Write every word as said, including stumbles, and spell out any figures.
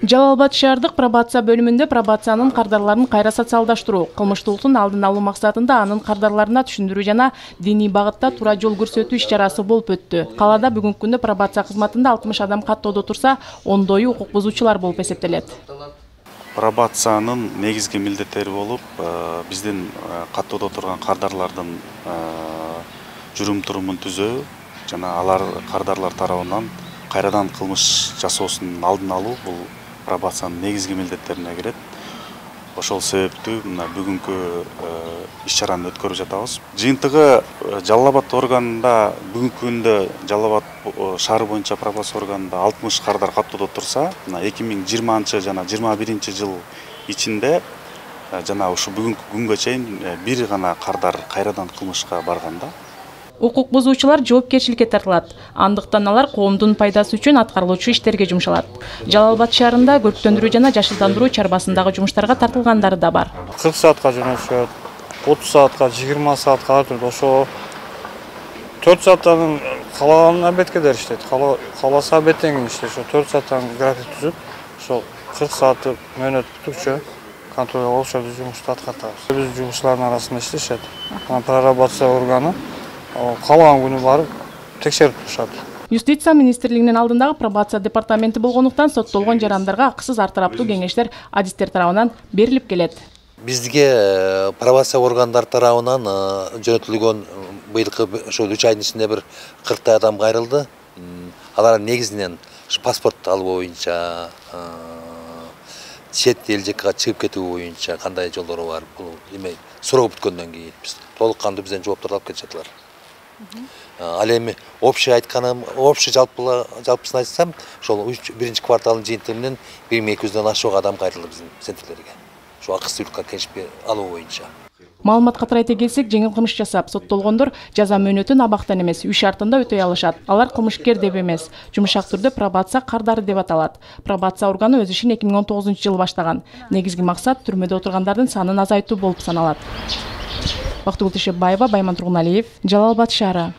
Жалал Абад шаардык пробация бөлүмүндө пробациянын кардарларын кайра социалдаштыруу, кылмыштуулуктун алдын алуу максатында анын кардарларына түшүндүрүү жана диний багытта туура жол көрсөтүү иш-чарасы болуп өттү. Калаада бүгүнкү күндө пробация кызматында алтымыш адам каттоодо турса, ондою укук бузуучулар болуп эсептелет. Пробациянын негизги милдеттери болуп, биздин каттоодо турган кардарлардын жүрүм-турумун түзөө жана алар кардарлар тарабынан кайрадан кылмыш жасоосунун алдын алуу бул пробациянын негизги милдеттерине кирет. Ошол себептүү мына бүгүнкү иш-чараны өткөрүп жатабыз. Жыйынтыгы Жалал Абад органында бүгүнкү күндө Жалал Абад шаары боюнча пробация органында алтымыш кардар каттоодо турса, мына эки миң жыйырманчы жана жыйырма биринчи жыл ичинде жана ушу бүгүнкү күнгө чейин бир гана кардар кайрадан кылмышка барганда. Укук бузуучулар жоопкерчиликке тартылат. Андыктан алар коомдун пайдасы үчүн аткарылуучу иштерге жумшалат. Жалал Абад шаарында көрктөндүрүү жана жашылдандыруу чарбасындагы жумуштарга тартылгандары да бар. кырк саатка жөнөтүшөт, отуз саатка, жыйырма саатка ар түрдүү. Ошо төрт сааттан каалаган абетке иштейт. Кааласа абеттен иштейт. Ошо төрт сааттан график түзүп, ошо кырк саатты мөөнөт бүтүкчө контролго ошол жумушту аткартабыз. Биз жумушчулардын арасында иштешет. Прорабация органы каалаган күнү барып текшерип турушат. Юстиция министрлигинин алдындагы пробация департаменти болгондуктан соттолгон жарандарга акысыз ар тараптуу кеңештер адистер тарабынан берилип келет. Бизге пробация органдар тарабынан жөнөтүлгөн быйылкы ошол үч айдын ичинде бир кырктай адам кайрылды. Алар негизинен паспорт алуу боюнча, чет эл жакка чыгып кетүү боюнча кандай жолдору бар, бул эме суроо бүткөндөн кийин биз толук кандуу бизден жооптор алып кетишатылар. Ал эми общий айтканым, общий жалпысын айтсам, ошол биринчи кварталдын жыйынтыгы менен бир миң эки жүздөн ашык адам кайрылды биздин центрлерге. Ошо акысыз өлкө кеңешпи алуу боюнча. Маалыматка тарайта келсек, жеңил кылмыш жасап соттолгондор жаза мөөнөтүн абактан эмес, үй шартында өтөй алышат. Алар кылмышкер деп эмес, жумшак түрдө пробация кардары деп аталат. Пробация органы өз ишин эки миң он тогузунчу жылы баштаган. Негизги максат түрмөдө отургандардын санын азайтуу болуп саналат. Бактыгүл Тишепбаева, Байман Тургуналиев, Жалал Абад шаары.